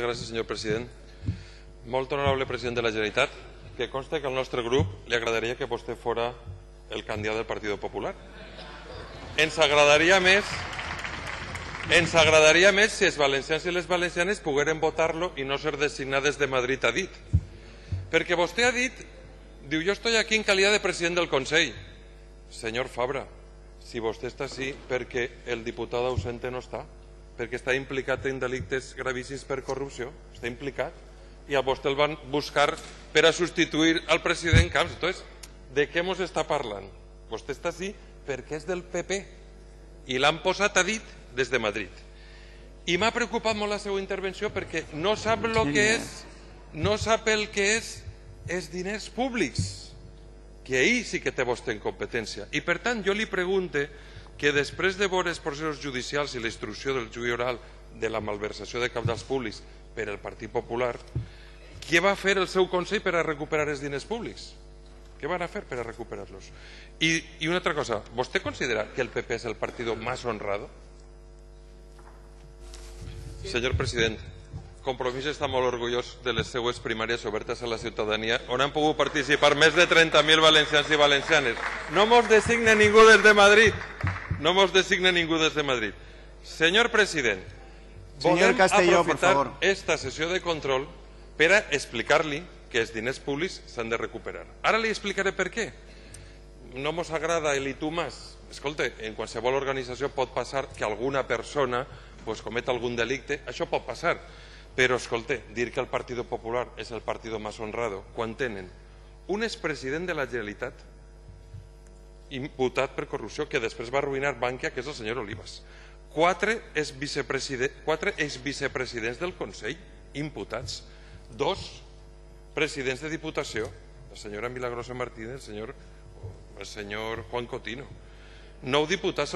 Gràcies, senyor president. Molt honorable president de la Generalitat, que conste que al nostre grup li agradaria que vostè fora el candidat del Partit Popular. Ens agradaria més si els valencians i les valencianes pogueren votar-lo i no ser designades de Madrid a dit. Perquè vostè ha dit, diu, jo estoy aquí en calidad de president del Consell. Senyor Fabra, si vostè està així perquè el diputat ausente no està, perquè està implicat en delictes gravíssims per corrupció, està implicat, i a vostè el van buscar per a substituir al president Camps. Entonces, de què ens està parlant? Vostè està així perquè és del PP i l'han posat a dit des de Madrid. I m'ha preocupat molt la seva intervenció perquè no sap el que és els diners públics, que ahir sí que té vostè en competència. I per tant jo li pregunte que després de veure els processos judicials i la instrucció del juí oral de la malversació de cabals públics per al Partit Popular, què va fer el seu Consell per a recuperar els diners públics? Què van a fer per a recuperar-los? I una altra cosa, ¿vostè considera que el PP és el partit més honrado? Senyor president, Compromís està molt orgullós de les seues primàries obertes a la ciutadania, on han pogut participar més de 30.000 valencians i valencianes. No mos designa ningú des de Madrid. No mos designa ningú des de Madrid. Senyor president, volem aprofitar esta sessió de control per a explicar-li que els diners públics s'han de recuperar. Ara li explicaré per què. No mos agrada el i tu más. Escolta, en qualsevol organització pot passar que alguna persona cometa algun delicte, això pot passar. Però, escolta, dir que el Partit Popular és el partit més honrado quan tenen un expresident de la Generalitat imputat per corrupció que després va arruïnar Bankia, que és el senyor Olivas, 4 exvicepresidents del Consell imputats, 2 presidents de Diputació, la senyora Milagrosa Martínez, el senyor Juan Cotino, 9 diputats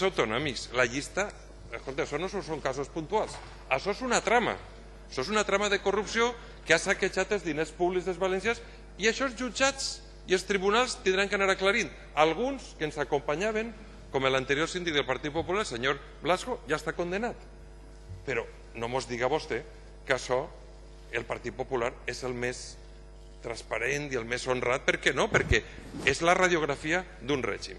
autonòmics. La llista, escolta, això no són casos puntuals, això és una trama. Això és una trama de corrupció que ha saquejat els diners públics dels valencians i això els jutjats i els tribunals tindran que anar aclarint. Alguns que ens acompanyaven, com l'anterior síndic del Partit Popular, el senyor Blasco, ja està condenat. Però no mos diga vostè que això, el Partit Popular, és el més transparent i el més honrat. Per què no? Perquè és la radiografia d'un règim.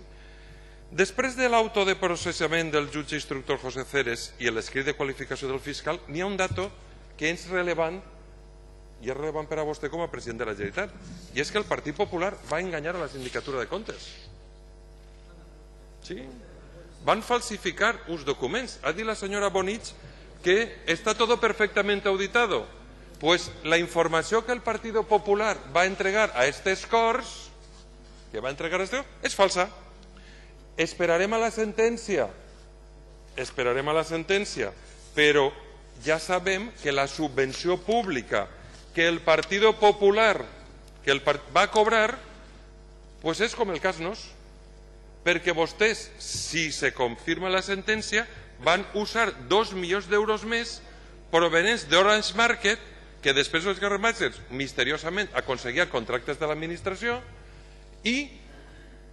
Després de l'auto de processament del jutge instructor José Ceres i l'escrit de qualificació del fiscal, n'hi ha un dato que és rellevant, i és rellevant per a vostè com a president de la Generalitat, i és que el Partit Popular va enganyar a la sindicatura de comptes. Sí, van falsificar uns documents. Ha dit la senyora Bonich que està todo perfectamente auditado. Pues la informació que el Partit Popular va entregar a estes Corts, és falsa. Esperarem a la sentència, però ja sabem que la subvenció pública que el Partit Popular va cobrar és com el cas Nos, perquè vostès, si se confirma la sentència, van usar 2 milions d'euros més provenents d'Orange Market, que després els Garramatges misteriosament aconseguia contractes de l'administració i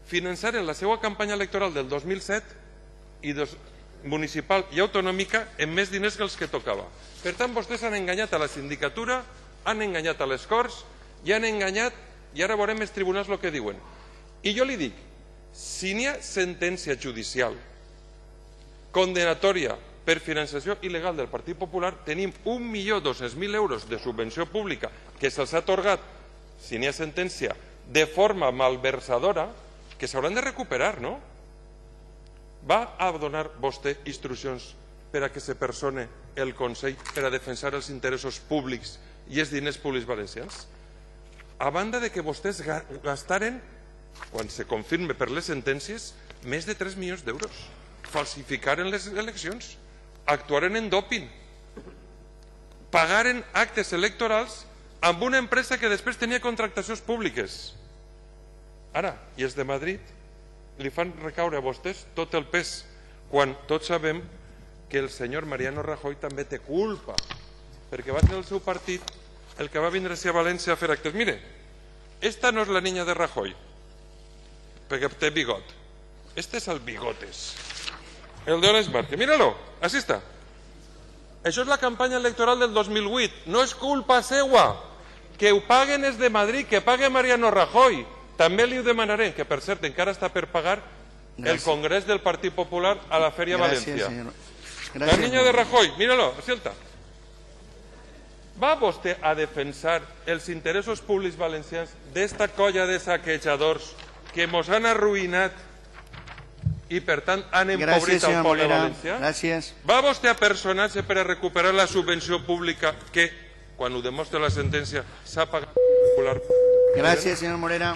finançaren la seva campanya electoral del 2007 i municipal i autonòmica amb més diners que els que tocava. Per tant, vostès han enganyat a la sindicatura, han enganyat a les Corts i han enganyat, i ara veurem els tribunals el que diuen. I jo li dic, si n'hi ha sentència judicial condenatòria per finançació il·legal del Partit Popular, tenim 1.200.000 euros de subvenció pública que se'ls ha atorgat, si n'hi ha sentència, de forma malversadora, que s'hauran de recuperar, no? Va a donar vostè instruccions per a que se persone el Consell per a defensar els interessos públics i els diners públics valencians? A banda de que vostès gastaren, quan se confirme per les sentències, més de 3 milions d'euros. Falsificaren les eleccions, actuaren en doping, pagaren actes electorals amb una empresa que després tenia contractacions públiques. Ara, i els de Madrid li fan recaure a vostès tot el pes, quan tots sabem que el senyor Mariano Rajoy també té culpa, perquè va ser el seu partit el que va vindre a València a fer actes. Mire, esta no és la niña de Rajoy, perquè té bigot. Este és el Bigotes, el de Orange Market. Míralo, así está. Això és la campanya electoral del 2008. No és culpa seua. Que ho paguen és de Madrid, que pague Mariano Rajoy. També li ho demanarem, que per cert encara està per pagar el Congrés del Partit Popular a la Feria Valencia. La niña de Rajoy, míralo, sienta. Va vostè a defensar els interessos públics valencians d'esta colla de saquejadors que mos han arruïnat i, per tant, han empobrit el poble valencià? Va vostè a personar-se per a recuperar la subvenció pública que, quan ho demostra la sentència, s'ha pagat popular? Gràcies, senyor Morera.